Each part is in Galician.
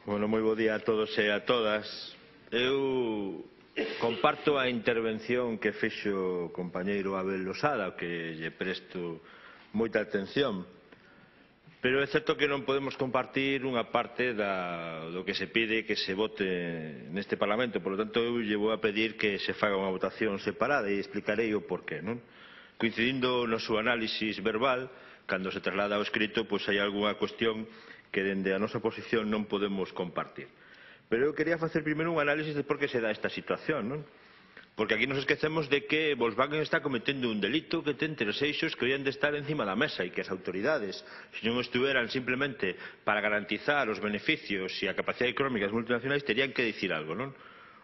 Bueno, moi bo día a todos e a todas. Eu comparto a intervención que fixo o compañeiro Abel Losada, que lle presto moita atención. Pero é certo que non podemos compartir unha parte do que se pide que se vote neste Parlamento. Por lo tanto, eu lle vou a pedir que se faga unha votación separada e explicarei o porqué, non? Coincidindo no seu análisis verbal, cando se traslada ao escrito, pois hai algunha cuestión que dende a nosa posición non podemos compartir. Pero eu quería facer primeiro un análisis de por que se dá esta situación, non? Porque aquí nos esquecemos de que Volkswagen está cometendo un delito que ten tres eixos que habían de estar encima da mesa e que as autoridades, se non estuveran simplemente para garantizar os beneficios e a capacidade económica das multinacionais, terían que dicir algo, non?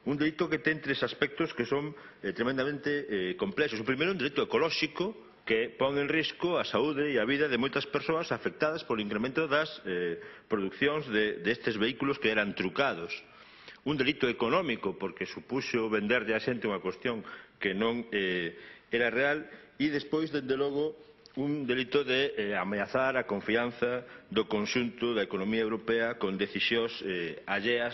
Un delito que ten tres aspectos que son tremendamente complexos. O primeiro, un delito ecolóxico que pon en risco a saúde e a vida de moitas persoas afectadas polo incremento das producións destes vehículos que eran trucados. Un delito económico, porque supuxo venderlle a xente unha cuestión que non era real, e despois, dende logo, un delito de ameazar a confianza do conxunto da economía europea con decisións alleas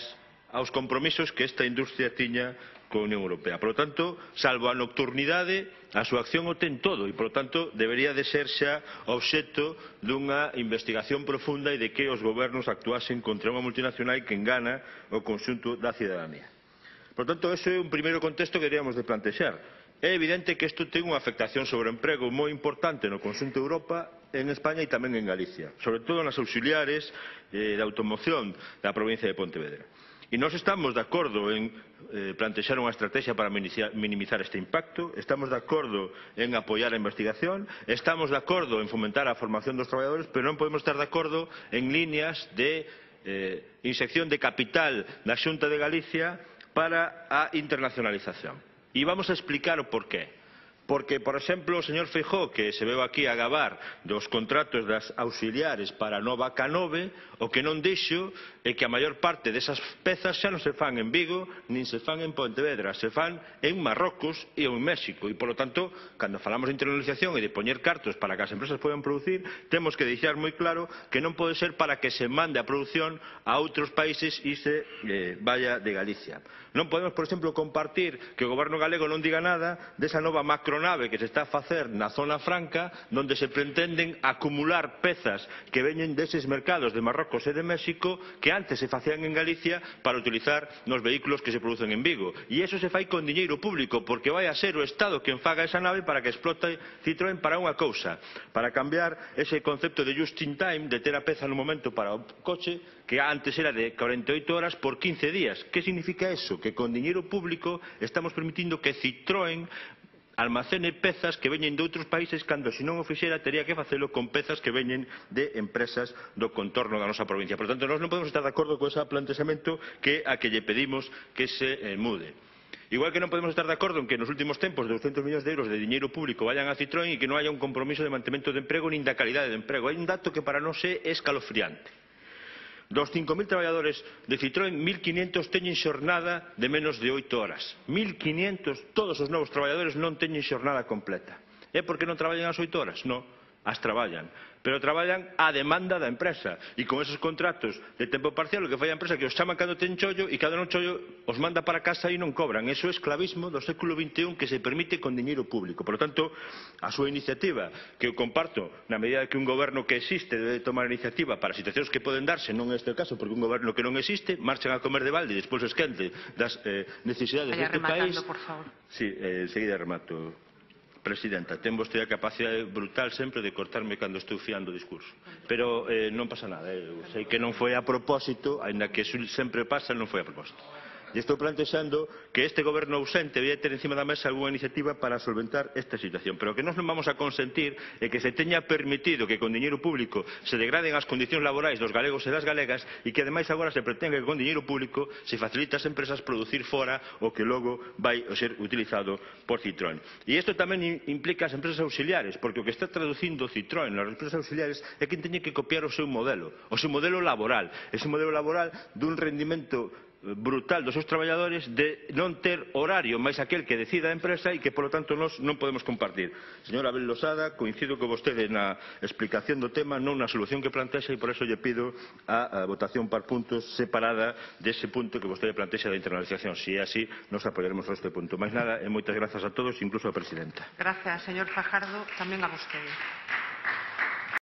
aos compromisos que esta industria tiña coa Unión Europea. Por lo tanto, salvo a nocturnidade, a súa acción o ten todo e, por lo tanto, debería de ser xa obxecto dunha investigación profunda e de que os gobernos actuasen contra unha multinacional que engana o conxunto da cidadanía. Por lo tanto, ese é un primeiro contexto que deberíamos de plantexar. É evidente que isto ten unha afectación sobre o emprego moi importante no conxunto de Europa, en España e tamén en Galicia, sobre todo nas auxiliares de automoción da provincia de Pontevedra. E nós estamos de acordo en plantexar unha estrategia para minimizar este impacto, estamos de acordo en apoiar a investigación, estamos de acordo en fomentar a formación dos traballadores, pero non podemos estar de acordo en líneas de inxección de capital da Xunta de Galicia para a internacionalización. E vamos a explicar o porqué. Porque, por exemplo, o señor Feijóo, que se veu aquí a gabar dos contratos das auxiliares para a nova K9, o que non dixo é que a maior parte desas pezas xa non se fan en Vigo, nin se fan en Pontevedra, se fan en Marrocos e en México. E, por lo tanto, cando falamos de internacionalización e de poñer cartos para que as empresas podan producir, temos que deixar moi claro que non pode ser para que se mande a produción a outros países e se vaya de Galicia. Non podemos, por exemplo, compartir que o goberno galego non diga nada desa nova macronave que se está a facer na zona franca, onde se pretenden acumular pezas que veñen deses mercados de Marrocos e de México que antes se facían en Galicia para utilizar nos vehículos que se producen en Vigo. E iso se fai con diñeiro público, porque vai a ser o Estado quen faga esa nave para que explote Citroën para unha cousa, para cambiar ese concepto de just in time, de ter a peza no momento para o coche, que antes era de 48 horas por 15 días. Que significa eso? Que con diñeiro público estamos permitindo que Citroën almacene pezas que veñen de outros países cando, se non o fixera, tería que facelo con pezas que veñen de empresas do contorno da nosa provincia. Por tanto, nós non podemos estar de acordo con ese plantexamento que a que lle pedimos que se mude. Igual que non podemos estar de acordo en que nos últimos tempos 200 millóns de euros de diñeiro público vayan a Citroën e que non haya un compromiso de mantemento de emprego nin da calidade de emprego. Hai un dato que para nós é escalofriante. Dos 5.000 traballadores de Citroën, 1.500 teñen xornada de menos de 8 horas. 1.500, todos os novos traballadores non teñen xornada completa. É porque non traballan as 8 horas? Non, as traballan. Pero traballan á demanda da empresa. E con esos contratos de tempo parcial, o que fai a empresa que os chaman cando ten chollo e cando non chollo os manda para casa e non cobran. Eso é esclavismo do século XXI que se permite con diñeiro público. Por lo tanto, a súa iniciativa, que eu comparto na medida que un goberno que existe debe tomar iniciativa para situacións que poden darse, non é este o caso, porque un goberno que non existe marchan a comer de balde e despois esquente das necesidades deste país. Por favor. Sí, enseguida remato. Presidenta, ten vostede a capacidade brutal sempre de cortarme cando estou fiando o discurso. Pero non pasa nada, eu sei que non foi a propósito, aínda que sempre pasa, non foi a propósito. E estou plantexando que este goberno ausente debía ter encima da mesa algunha iniciativa para solventar esta situación. Pero o que nós non vamos a consentir é que se teña permitido que con diñeiro público se degraden as condicións laborais dos galegos e das galegas e que ademais agora se pretende que con diñeiro público se facilite ás empresas producir fora o que logo vai ser utilizado por Citroën. E isto tamén implica as empresas auxiliares, porque o que está traducindo Citroën nas empresas auxiliares é que teñen que copiar o seu modelo laboral dun rendimento brutal dos seus traballadores de non ter horario máis aquel que decida a empresa e que, polo tanto, nós non podemos compartir. Señor Abel Losada, coincido con vostede na explicación do tema, non na solución que plantexa, e por eso lle pido a votación por puntos separada dese punto que vostede plantexa da internalización. Se é así, nos apoiaremos a este punto. Máis nada, e moitas grazas a todos, incluso a presidenta. Gracias, señor Fajardo. Tamén a vostede.